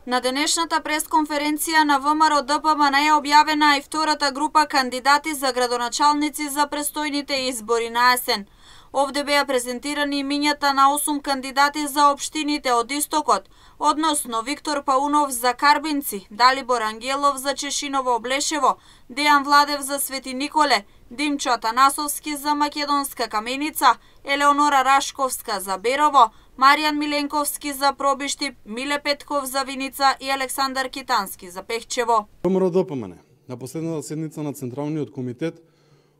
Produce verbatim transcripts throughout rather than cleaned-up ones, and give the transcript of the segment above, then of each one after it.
На денешната пресконференција на ВМРО Д П М Н е објавена и втората група кандидати за градоначалници за престојните избори на есен. Овде беа презентирани имињата на осум кандидати за општините од Истокот, односно Виктор Паунов за Карбинци, Далибор Ангелов за Чешиново-Облешево, Дејан Владев за Свети Николе, Димчо Атанасовски за Македонска Каменица, Елеонора Рашковска за Берово, Маријан Миленковски за Пробиштип, Миле Петков за Виница и Александар Китански за Пехчево. ВМРО Д П М Н на последната седница на Централниот комитет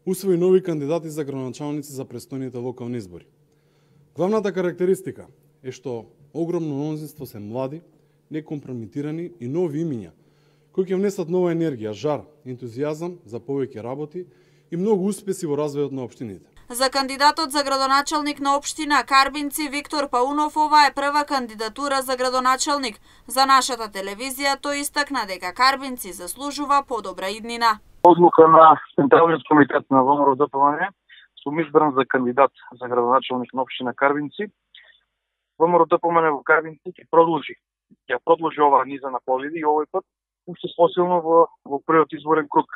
усвои нови кандидати за градоначалници за престојните локални избори. Главната карактеристика е што огромно мнозинство се млади, некомпрометирани и нови имиња, кои ќе внесат нова енергија, жар, ентузијазам за повеќе работи и многу успеси во развојот на општините. За кандидатот за градоначалник на општина Карбинци Виктор Паунов ова е прва кандидатура за градоначалник. За нашата телевизија тој истакна дека Карбинци заслужува подобра иднина. Одлука на Централниот комитет на ВМРО Д П М Н сум избран за кандидат за градоначалник на општина Карбинци. ВМРО Д П М Н во Карбинци ќе продолжи, ќе продолжи оваа низа на победи и овој пат уште посилно во во првиот изборен круг.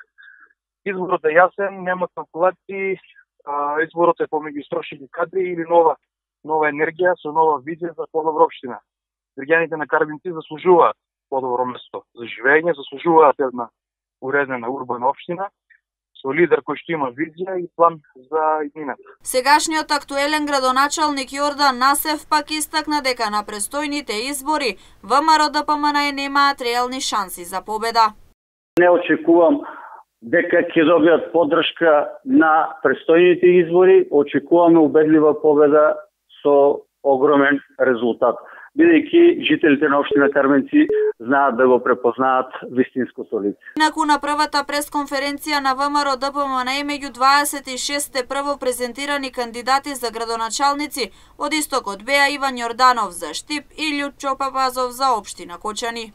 Изборот е јасен, нема калкулации, изборот е помеѓу истрошени кадри или нова нова енергија со нова визија за подобра општина. Граѓаните на Карбинци заслужуваат подобро место за живење, заслужуваат една уредена урбана општина со лидер кој што има визија и план за иднината. Сегашниот актуелен градоначалник Јордан Насев пак истакна дека на престојните избори ВМРО Д П М Н немаат реални шанси за победа. Не очекувам дека ќе добијат поддршка на престојните избори, очекуваме убедлива победа со огромен резултат, бидејќи жителите на општина Карбинци знаат да го препознаат вистинското лице. Инаку на првата пресконференција на ВМРО Д П М Н меѓу дваесет и шест прво презентирани кандидати за градоначалници од Истокот беа Иван Јорданов за Штип и Љупчо Папазов за општина Кочани.